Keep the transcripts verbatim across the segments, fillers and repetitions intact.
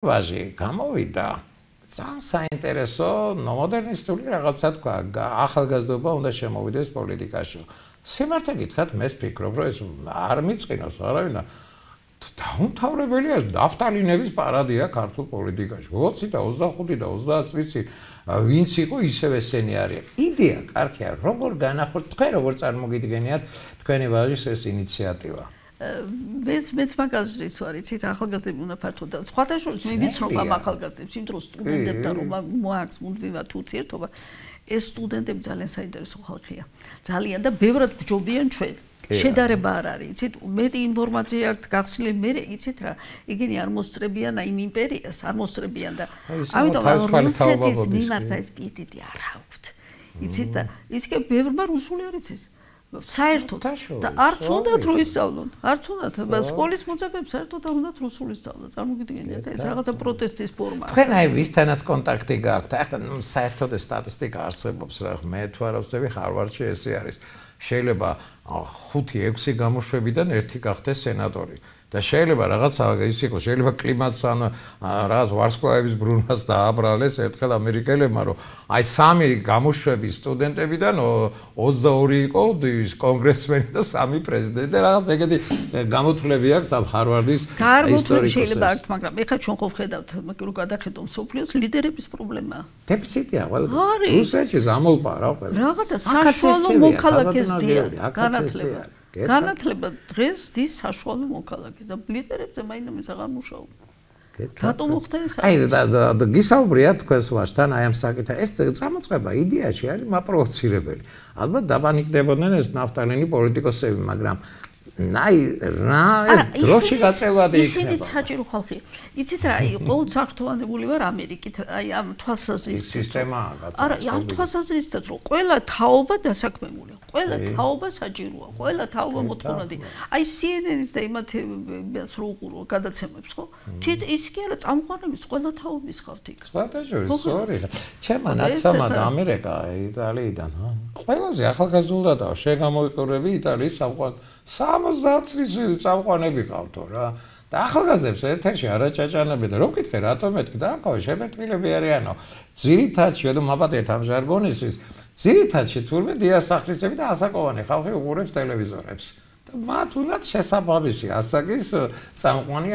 ვაჟი გამოვიდა ძალიან საინტერესო მოდერნისტული რაღაცა თქვა ახალგაზრდობა უნდა შემოვიდეს პოლიტიკაში. სიმართლე გითხრათ მე ვფიქრობ რომ ეს არ მიწყინოს არავინ დაუმთავრებელია ნაფტალინების პარადია ქართულ პოლიტიკაში. ოცი და ოცდახუთი და ოცდაათ წლის ვინც იყო ისევ ესენი არის. იდეა კარგია როგორ განახორციელოთ თქვენ როგორ წარმოგიდგენიათ თქვენი ვაჟის ეს ინიციატივა. მეც მეც მაგაზრის ვარ იცით ახალგაზრდები უნდა ფართოდ და სხვათა შორის მე ვიცნობ ამ ახალგაზრდებს იმ დროს სტუდენტებთან რომ მოაქვს მუდმივად ურთიერთობა ეს სტუდენტები ძალიან საინტერესო ხალხია ძალიან და ბევრად გჯობიან ჩვენ შედარება არ არის იცით მეტი ინფორმაცია აქვს გახსნილი მე იცით რა იგენი არ მოსწრებიან აი იმ იმპერიას არ მოსწრებიან და ამიტომ რუსეთის მიმართ ეს პიეტეტი არ აქვთ იცით და ისე ბევრმა რუსული არ იცის საერთოდ და არც უნდათ რომ ისწავლონ არც უნდათ სკოლის მოწაფეებს საერთოდ არ უნდათ რუსული სწავლა წარმოგიდგენიათ ეს რაღაცა პროტესტის ფორმაა თქვენ აი ვისთანაც კონტაქტი გაქვთ ახლა საერთოდ ეს სტატისტიკა არსებობს რა მე თუ არ ვწდები ხარვარდში ესე არის შეიძლება ხუთი ექვსი გამოშვებიდან ერთი გახდეს სენატორი და შეიძლება რაღაცა ის იყოს შეიძლება კლიმატს ან რაღაც ვარსკვლავების ბრუნვას დააბრალეს ერთხელ ამერიკელებმა რომ აი სამი გამოშვების სტუდენტებიდან ოცდაორი იყო ის კონგრესმენი და სამი პრეზიდენტი და რაღაც ეგეთი გამოთვლები აქვს ამ ჰარვარდის ისტორიკოსებს შეიძლება აქვს მაგრამ ეხლა ჩვენ ხო ვხედავთ რო გადახედავ სოფლიოს ლიდერების პრობლემაა დეფიციტია ყველა რუსეთში ზამოლპა რა ყველა რაღაცა საშუალო მოქალაქესია განათლება განათლება დღეს დის საშუალო მოქალაქეს და ლიდერებზე მაინც აღარ მუშაობ. რატომ მოხდა ეს? აი და გისაუბრია თქვენს ვაჟთან აი ამ საკითხთან. ეს წამოწყება იდეაში არის მაპროვოცირებელი. ალბათ დაბანიკდებოდნენ ეს ნაფტალინი პოლიტიკოსები, მაგრამ აი რა დროში გაწევადი იქნება. ისინი საჭირო ხალხია. იცით რა, ყოველ საფრთხოვანებული ვარ ამერიკით, აი ამ თვალსაზრისით. სისტემაა გაწევადი. არა, ამ თვალსაზრისითაც რომ ყველა თაობა დასაქმებულია. ყველა თაობა საჭიროა, ყველა თაობა მოთხოვნადი. აი C N N-ის და იმათებს რო უყურო გადაცემებს ხო? თვით ის კი არა წამყვანების ყველა თაობის ხართ იქ. სხვადასხვა სწორი. ჩემმა ნაცამად ამერიკა იტალიიდან, ჰა. ყველაზე ახალგაზრდა და შეგამოიყურები იტალიის სამყარო სამოცდაათ წლის წამყვანები ყავთო რა. და ახალგაზრდებს ეთერში არაჭაჭანები და რო ვკითხე რატომ მეთქი და აკავე შეფერტყილები არიანო. ძირითადში და მაპატეთ ამ ჟარგონისთვის ძირითადში თურმე დიასახლისები და ასაკოვანი ხალხი უყურებს ტელევიზორებს. და მათ უნდათ შესაბამისი ასაკის წამყვანი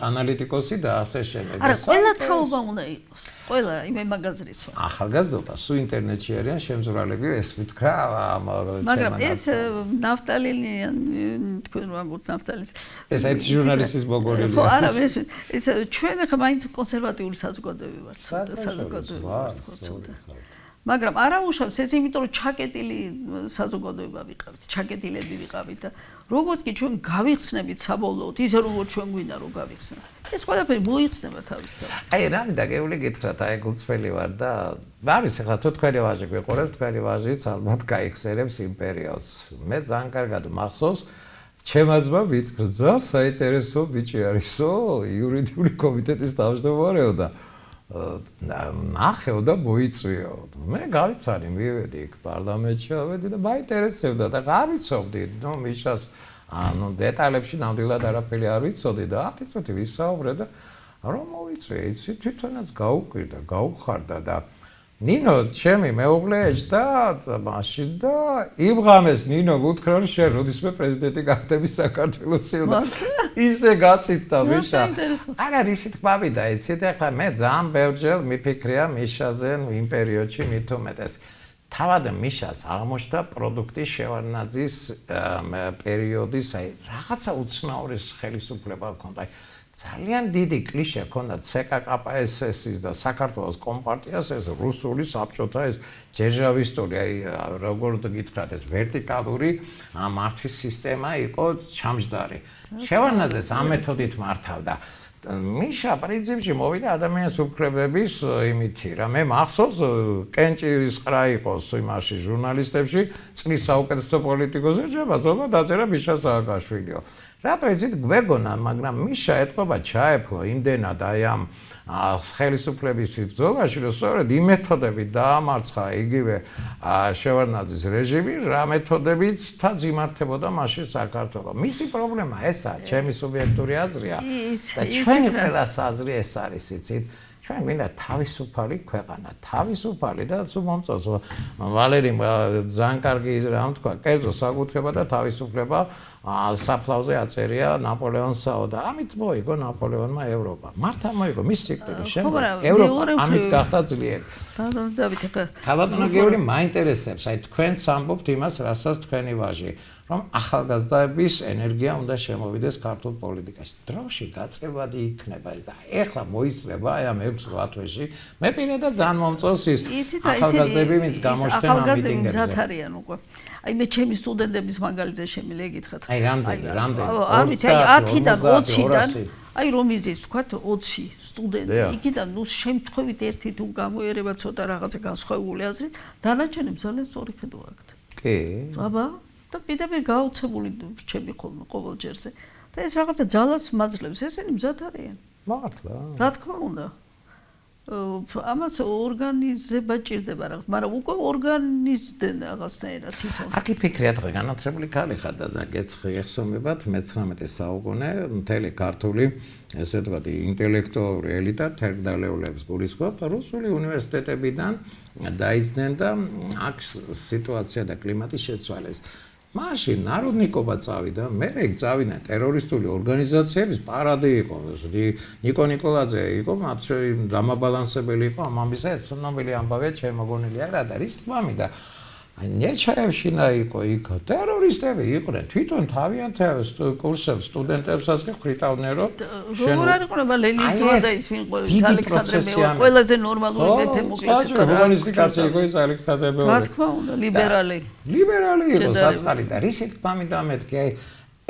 ანალიტიკოსი და ასე შემდეგ. არა, ყველა თაობა უნდა იყოს. ყველა იმე მაგაზრის ვარ. ახალგაზრდობა სულ ინტერნეტში არიან შემზრალები ეს ვთქვა ამ მაგრამ ეს ნაფტალინი თქვენ რა მოგთ ნაფტალინის ეს ერთ ჟურნალისტის მოგონილი. ხო, არა, ეს ეს ჩვენ ახლა მაინც კონსერვატიული საზოგადოები ვართ, საზოგადოები ვართ, ხო, ცოტა. მაგრამ არა უშავს ეს იმიტომ რომ ჩაკეტილი საზოგადოება ვიყავით, ჩაკეტილები ვიყავით და როგორც კი ჩვენ გავიხსნებით საბოლოოდ, ისე როგორც ჩვენ გვინდა რომ გავიხსნათ. ეს ყველაფერი მოიხსნება თავისთავად. აი რა მინდა გეული გითხრათ, აი გულწრფელი ვარ და არის ახლა თუ თქვენი ვაჟი გვიყურებს, თქვენი ვაჟიც ალბათ გაიხსენებს იმ პერიოდს. მე ძალიან კარგად მახსოვს ჩემმა ძმამ ვიტყრა საინტერესო ბიჭი არისო, იურიდიული კომიტეტის თავმჯდომარეო და ნახეო და მოიწვიო. მე გავიცანი, მივედი იქ პარლამენტში, ავედი და მაინტერესებდა და გავიცობდი, ნუ მიშას ანუ დეტალებში ნამდვილად არაფერი არ ვიცოდი და ათი წუთი ვისაუბრე და რომ მოვიწვიე, იცი, თვითონაც გაუკვირდა, გაუხარდა და ნინო ჩემი მეუღლე ეჯდა მაშინ და იმ ღამეს ნინო გუთხრა რომ შენ როდისმე პრეზიდენტი გახდები საქართველოსი და ისე გაციტა მიშა არ არის ისეთ ბავიდა იცით ახლა მე ძალიან ბევრჯერ მიფიქრია მიშაზე იმ პერიოდში მით უმეტეს თავად მიშაც აღმოჩნდა პროდუქტის შევარდნაძის პერიოდის აი რაღაცა უცნაური ხელისუფლება ჰქონდა ძალიან დიდი კლიშე ჰქონდა C K K P S S-ის და საქართველოს კომპარტიას ეს რუსული საბჭოთა ეს ჯერჟავისტური აი როგორ გითხრათ ეს ვერტიკალური მართვის სისტემა იყო ჩამჯდარი. შევარდნაძეს ამ მეთოდით მართავდა. მიშა პრინციპში მოვიდა ადამიანის უფლებების იმითი რა მე მახსოვს კენჭის ყრა იყოს იმაში ჟურნალისტებში წლის საუკეთესო პოლიტიკოსი ჯება ზომა დაწერა მიშა სააკაშვილიო. რატო იცით გვეგონა, მაგრამ მიშა ეთყობა ჩაეფლო იმდენად აი ამ ხელისუფლების ბრძოლაში, რომ სწორედ იმ მეთოდებით დაამარცხა იგივე შევარდნაძის რეჟიმი, რა მეთოდებით თაც იმართებოდა მაშინ საქართველოს. მისი პრობლემა ესაა, ჩემი სუბიექტური აზრია და ჩვენი ყველას აზრი ეს არის, იცით? ჩვენ გვინდა თავისუფალი ქვეყანა, თავისუფალი და სულ მომწონს ვალერიმ ძალიან კარგი რამ თქვა, კერძო საკუთრება და თავისუფლება საფლავზე აწერია ნაპოლეონსაო და ამით მოიგო ნაპოლეონმა ევროპა. მართა მოიგო მის სიკვდილის შემდეგ ევროპა ამით გახდა ძლიერი. დავით ეხლა ქალბატონო გიორგი მაინტერესებს, აი თქვენც ამბობთ იმას, რასაც თქვენი ვაჟი, რომ ახალგაზრდების ენერგია უნდა შემოვიდეს ქართულ პოლიტიკაში. დროში გაწევადი იქნება ეს და ეხლა მოისწრება აი ამ ექვს რვა თვეში. მე პირადად ძალიან მომწონს ის ახალგაზრდები ვინც გამოჩნდნენ ამ მიტინგებზე. ახალგაზრდები არიან უკვე. აი მე ჩემი სტუდენტების მაგალითზე შემიძლია გითხრათ. აი რამდენი, რამდენი? ამით აი ათიდან ოციდან აი რომ იზის თქვათ ოცი სტუდენტი იქიდან ნუ შემთხვევით ერთი თუ გამოიერება ცოტა რაღაცა განსხვავებული აზრით, დანარჩენებს ძალიან სწორი ხედვა აქვთ. კი. აბა და პირდაპირ გაოცებული რჩები ხოლმე ყოველ ჯერზე. და ეს რაღაცა ძალას მაძლევს, ესენი მზად არიან. მართლა. რა თქმა უნდა. ამას ორგანიზება ჭირდება რაღაც, მაგრამ უკვე ორგანიზდნენ რაღაცნაირად თვითონ. აკი ფიქრია დღე განათლებული ქალი ხარ და გეცხი ეხსომებათ მეცხრამეტე საუკუნე მთელი ქართული ესე ვთქვათ ინტელექტუალური ელიტა თერგდალეულებს გულისხმობ რუსული უნივერსიტეტებიდან დაიძნენ და აქ სიტუაცია და კლიმატი შეცვალეს. მაშინ ნაროდნიკობა წავიდა, მე ეგ წავიდა ტერორისტული ორგანიზაციების პარადი იყო. ნიკო ნიკოლაძე იყო, მათ შორის დამაბალანსებელი იყო ამ ამისა, ეს ცნობილი ამბავია, შემოგონილი არა და რის თქმა მინდა. ნეჩაევშინა იყო იქ ტერორისტები იყვნენ, თვითონ თავიანთი კურსებს სტუდენტებსაც კი ხრიტავდნენ, რომ როგორ არ იყვნება ლენინზეა და ის ვინ ყოველთვის ალექსანდრე მეორე ყველაზე ნორმალური მეფე მოკლეს იყო. კომუნისტი კაცი იყო ის ალექსანდრე მეორე. რა თქმა უნდა, ლიბერალი. ლიბერალი იყო საწყალი და რისი თქმა მინდა მეთქი, აი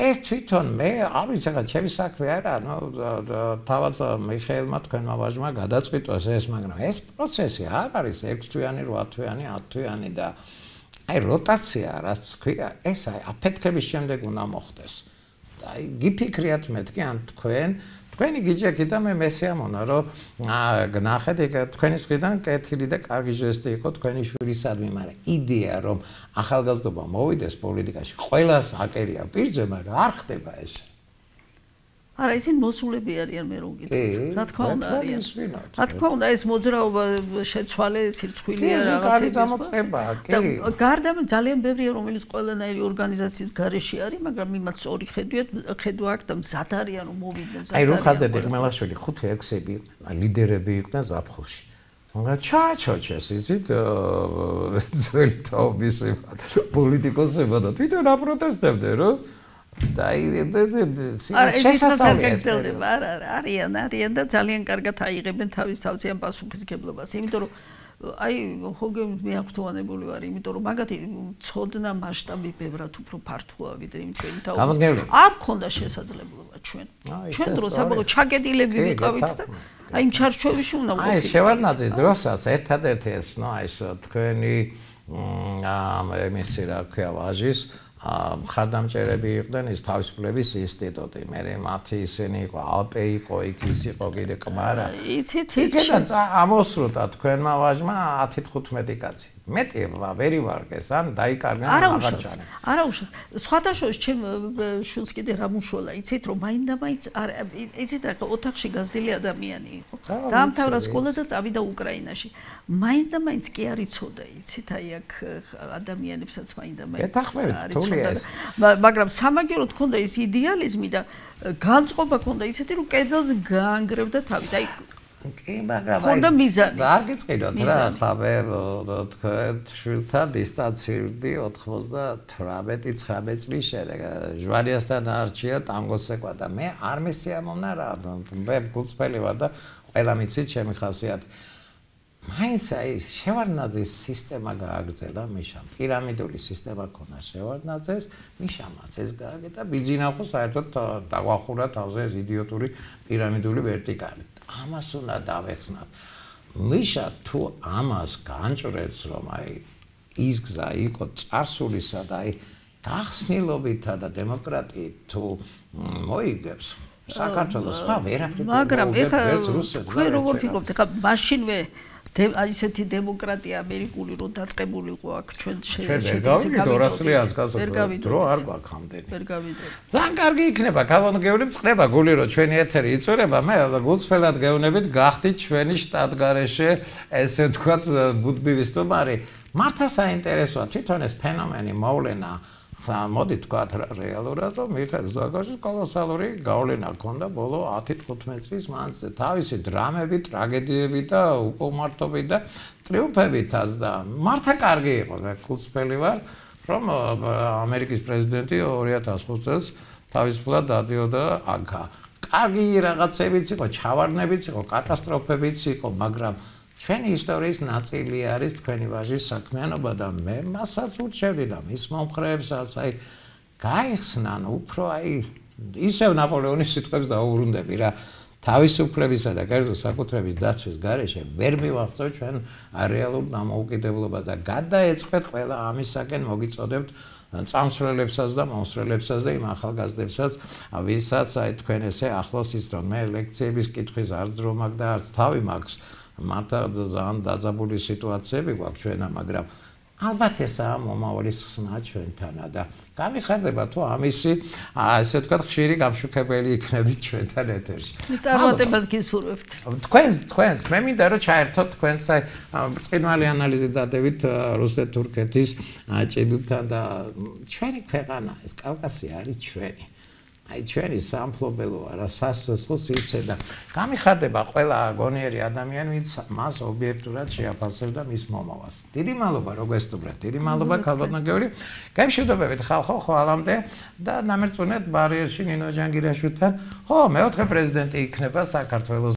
ეს თვითონ მე არ ვიცი რა ჩემი საქმე არა, ნუ თავად მიხეილმა თქვენმა ვაჟმა გადაწყვიტოს ეს, მაგრამ ეს პროცესი არ არის ექვს თვიანი, რვა თვიანი, ათ თვიანი და აი როტაცია რაც ქვია, ეს აი აფეთქების შემდეგ უნდა მოხდეს. და აი გიფიქრიათ მეთქი ან თქვენ თქვენი გიჯექი და მე მესიამონა რომ ნახეთ ეგ თქვენი მხრიდან კეთილი და კარგი ჟესტი იყო თქვენი შვილისადმი, მაგრამ იდეა რომ ახალგაზრდობა მოვიდეს პოლიტიკაში ყველას აკერია პირზე, მაგრამ არ ხდება ეს. არა, ისინი მოსულები არიან მე რომ გითხრათ. რა თქმა უნდა არიან. რა თქმა უნდა ეს მოძრაობა შეცვალე სირცხვილია რაღაცები. და გარდა ძალიან ბევრია რომელიც ყველანაირი ორგანიზაციის გარეშე არის, მაგრამ იმათ სწორი ხედვით ხედვა აქვს და მზად არიან რომ მოვიდნენ. აი რო ხაზები ხმელაშვილი ხუთი ექვსები ლიდერები იყვნენ ზაფხულში. მაგრამ ჩაჩოჩეს იცით ძველი თაობის პოლიტიკოსებმა და თვითონ აპროტესტებდნენ რომ დაი შესასწავლია არა არა არიან არიან და ძალიან კარგად აიღებენ თავის თავზე ამ პასუხისგებლობას, იმიტომ რომ აი ჰოგე მე აქტუალებული ვარ, იმიტომ რომ მაგათი ცოდნა მასშტაბი ბევრად უფრო ფართოა ვიდრე იმ ჩვენი თაობის. არ გქონდა შესაძლებლობა ჩვენ. ჩვენ დროს აბა ჩაკეტილები ვიყავით და აი იმ ჩარჩოვში უნდა ვიყავით. აი შევარდნაძის დროსაც ერთადერთი ეს ნუ აი თქვენი ამ ემისი რა ქვია ვაჟის მხარდამჭერები იყვნენ ის თავისუფლების ინსტიტუტი. მე მათი ისინი იყო ალპე იყო, იქ ის იყო კიდე კმარა. იცით იქიდან ამოსრულდა თქვენმა ვაჟმა ათი თხუთმეტი კაცი. მეტი ვერი ვარგეს ან დაიკარგნენ აღარჩანენ. არა უშავს. სხვათა შორის ჩემ შულს კიდე რა მუშველა, იცით რომ მაინდა-მაინც იცით რა ოთახში გაზრდილი ადამიანი იყო. დაამთავრა სკოლა და წავიდა უკრაინაში. მაინდა-მაინც კი არ იცოდა, იცით აი აქ ადამიანებსაც მაინდა-მაინც არ იცოდა. მაგრამ სამაგიეროდ ქონდა ის იდეალიზმი და განწყობა ქონდა ისეთი რომ კედელს გაანგრევდა თავით. აი კი, მაგრამ ხონდა მიზანი. არ გიწყიდოთ რა, ხა მე თქვენ შვილთან დისტანცირდი ოთხმოცდათვრამეტი ცხრამეტი წლის შემდეგ. ჟვარიასთან არჩია ტანგოს ეკვა და მე არ მესიამოვნა რა. მე გულწრფელი ვარ და ყველა მიცით ჩემი ხასიათი. მაინც აი შევარდნაძის სისტემა გააგრძელა მიშამ. პირამიდული სისტემა ქონა შევარდნაძეს, მიშამაც ეს გააკეთა ბიძინახო საერთოდ დაგვახურა თავზე ეს იდიოტური პირამიდული ვერტიკალი. ამას უნდა დავეხსნათ. მიშა თუ ამას განჭრեց რომ აი ის გზა იყო წარსულისა და აი გახსნილობითა და დემოკრატიით თუ მოიგებს საქართველოს ხა ვერაფრით მაგრამ ეხლა თქვენ როგორ ფიქრობთ ეხლა მაშინვე ისეთი დემოკრატია ამერიკული რო დაწყებულიყო აქ ჩვენ შევიდეთ დრო არ გვაქვს ამდენი ძალიან კარგი იქნება კანონმდებლობრივი წყდება გული რო ჩვენი ეთერი იწურება მე გულწრფელად გეუბნებით გახდით ჩვენი შტატგარეშე ესე ვთქვათ ბუდბივის სტუმარი მართა საინტერესოა თვითონ ეს ფენომენი მოვლენა ხა მოდი თქვათ რეალურად რომ მიხეილ ზვიგაშვილს კოლოსალური გავლენა ჰქონდა ბოლო ათი თხუთმეტი წლის მანძილზე თავისი დრამები, ტრაგედიები და უკმარტობები და ტრიუმფებითაც და მართა კარგი იყო მე გულწრფელი ვარ რომ ამერიკის პრეზიდენტი ორი ათას ხუთი წელს თავისუფლად დადიოდა აქა კარგი რაღაცებიც იყო ჩავარდნებიც იყო კატასტროფებიც იყო მაგრამ ჩვენი ისტორიის ნაწილი არის თქვენი ვაჟის საქმიანობა და მე მასაც ურჩევდი და მის მომხრეებსაც აი გაიხსნან უფრო აი ისევ ნაპოლეონის სიტყვებს დაუბრუნდები რა თავისუფლებისა და კერძო საკუთრების დაცვის გარეშე ვერ მივახცევ ჩვენ რეალურ დამოუკიდებლობას და გადაეწყვეტ ყველა ამისაკენ მოგიწოდებთ წამსვლელებსაც და მომსვლელებსაც და იმ ახალგაზრდებსაც ვისაც აი თქვენ ესე ახლოს ის რომ მე ლექციების კითხვის არც დრო მაქვს და არც თავი მაქვს მართა ძალიან დაძაბული სიტუაციები გვაქვს ჩვენა, მაგრამ ალბათ ესაა მომავლის ხსნა ჩვენთანა და გამიხარდება თუ ამისი ასე ვთქვათ ხშირი გამშუქებელი იქნებით ჩვენთან ეთერში. წარმატებას გისურვებთ. თქვენს თქვენს მე მინდა რომ ჩაერთოთ თქვენს ბრწყინვალე ანალიზი დადებით რუსეთ-თურქეთის ჭიდთან და ჩვენი ქვეყანა ეს კავკასია არის ჩვენი. აი ჩვენი სამფლობელოა რა სასწაულს იცე და გამიხარდება ყველა გონიერი ადამიანი ვინც მას ობიექტურად შეაფასებდა მის მომავალს. დიდი მადლობა რომ გესტუმრეთ. დიდი მადლობა ქალბატონგევრი. გამშვიდობებით ხალხო ხვალამდე და ნამერწუნეთ ბარიერში ნინო ჯანგირაშვილთან. ხო, მეოთხე პრეზიდენტი იქნება საქართველოს